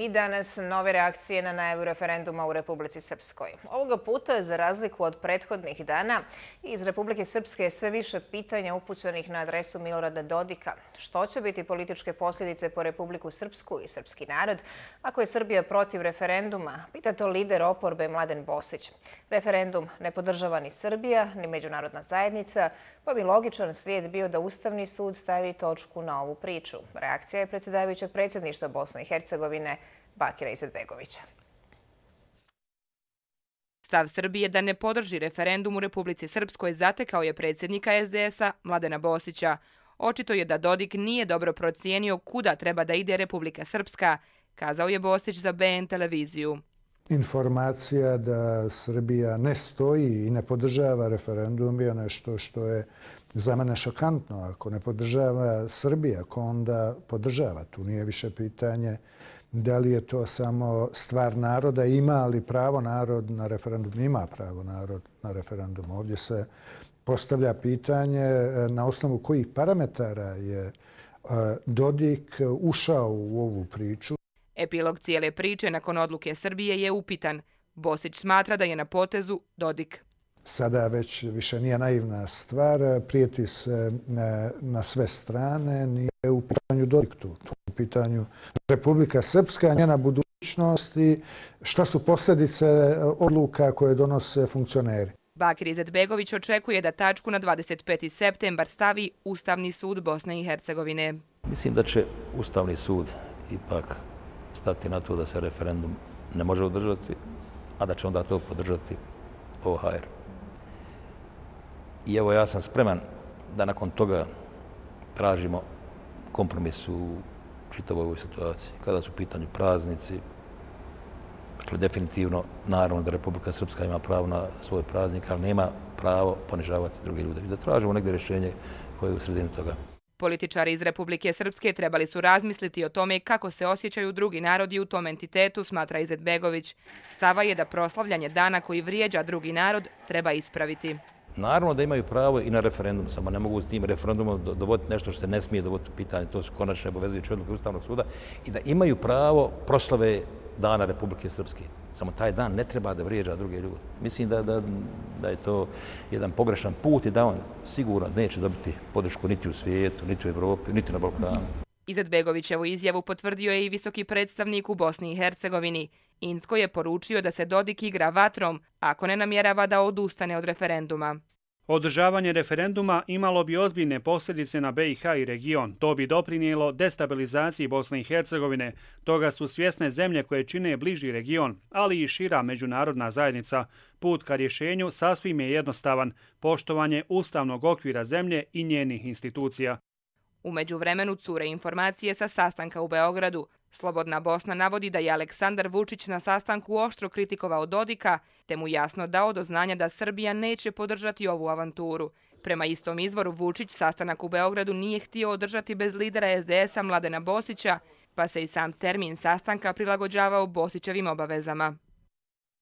I danas nove reakcije na najavu referenduma u Republici Srpskoj. Ovoga puta, za razliku od prethodnih dana, iz Republike Srpske je sve više pitanja upućenih na adresu Milorada Dodika. Što će biti političke posljedice po Republiku Srpsku i srpski narod ako je Srbija protiv referenduma? Pita to lider oporbe Mladen Bosić. Referendum ne podržava ni Srbija, ni međunarodna zajednica, pa bi logičan slijed bio da Ustavni sud stavi točku na ovu priču. Reakcija je predsjedavajućeg predsjedništva Bosne i Hercegovine Bakira Izetbegovića. Stav Srbije da ne podrži referendum u Republici Srpskoj zatekao je predsjednika SDS-a Mladena Bosića. Očito je da Dodik nije dobro procijenio kuda treba da ide Republika Srpska, kazao je Bosić za BN televiziju. Informacija da Srbija ne stoji i ne podržava referendum je nešto što je za mene šokantno. Ako ne podržava Srbija, ko onda podržava? Tu nije više pitanje da li je to samo stvar naroda, ima li pravo narod na referendum? Ima pravo narod na referendum. Ovdje se postavlja pitanje na osnovu kojih parametara je Dodik ušao u ovu priču. Epilog cijele priče nakon odluke Srbije je upitan. Bosić smatra da je na potezu Dodik. Sada već više nije naivna stvar, prijeti se na sve strane, nije u pitanju Dodik tu, u pitanju Republika Srpska, njena budućnost i šta su posljedice odluka koje donose funkcioneri. Bakir Izetbegović očekuje da tačku na 25. septembar stavi Ustavni sud Bosne i Hercegovine. Mislim da će Ustavni sud ipak stati na to da se referendum ne može održati, a da će onda to podržati OHR. I evo ja sam spreman da nakon toga tražimo kompromis u čitavoj ovoj situaciji. Kada su u pitanju praznici, dakle definitivno naravno da Republika Srpska ima pravo na svoj praznik, ali nema pravo ponižavati druge ljude. I da tražimo negdje rješenje koje je u sredini toga. Političari iz Republike Srpske trebali su razmisliti o tome kako se osjećaju drugi narodi u tom entitetu, smatra Izetbegović. Stava je da proslavljanje dana koji vrijeđa drugi narod treba ispraviti. Naravno da imaju pravo i na referendum, samo ne mogu s tim referendumom dovoditi nešto što se ne smije dovoditi u pitanje. To su konačne obavezujuće odluke Ustavnog suda i da imaju pravo proslave dana Republike Srpske. Samo taj dan ne treba da vrijeđa druge ljude. Mislim da je to jedan pogrešan put i da on sigurno neće dobiti podršku niti u svijetu, niti u Evropi, niti na Balkanu. Izetbegovićevu izjavu potvrdio je i visoki predstavnik u Bosni i Hercegovini. Inzko je poručio da se Dodik igra vatrom ako ne namjerava da odustane od referenduma. Održavanje referenduma imalo bi ozbiljne posljedice na BiH i region. To bi doprinijelo destabilizaciji Bosne i Hercegovine. Toga su svjesne zemlje koje čine bliži region, ali i šira međunarodna zajednica. Put ka rješenju sasvim je jednostavan. Poštovanje ustavnog okvira zemlje i njenih institucija. U međuvremenu cure informacije sa sastanka u Beogradu. Slobodna Bosna navodi da je Aleksandar Vučić na sastanku oštro kritikovao Dodika, te mu jasno dao do znanja da Srbija neće podržati ovu avanturu. Prema istom izvoru Vučić sastanak u Beogradu nije htio održati bez lidera SDS-a Mladena Bosića, pa se i sam termin sastanka prilagođavao Bosićevim obavezama.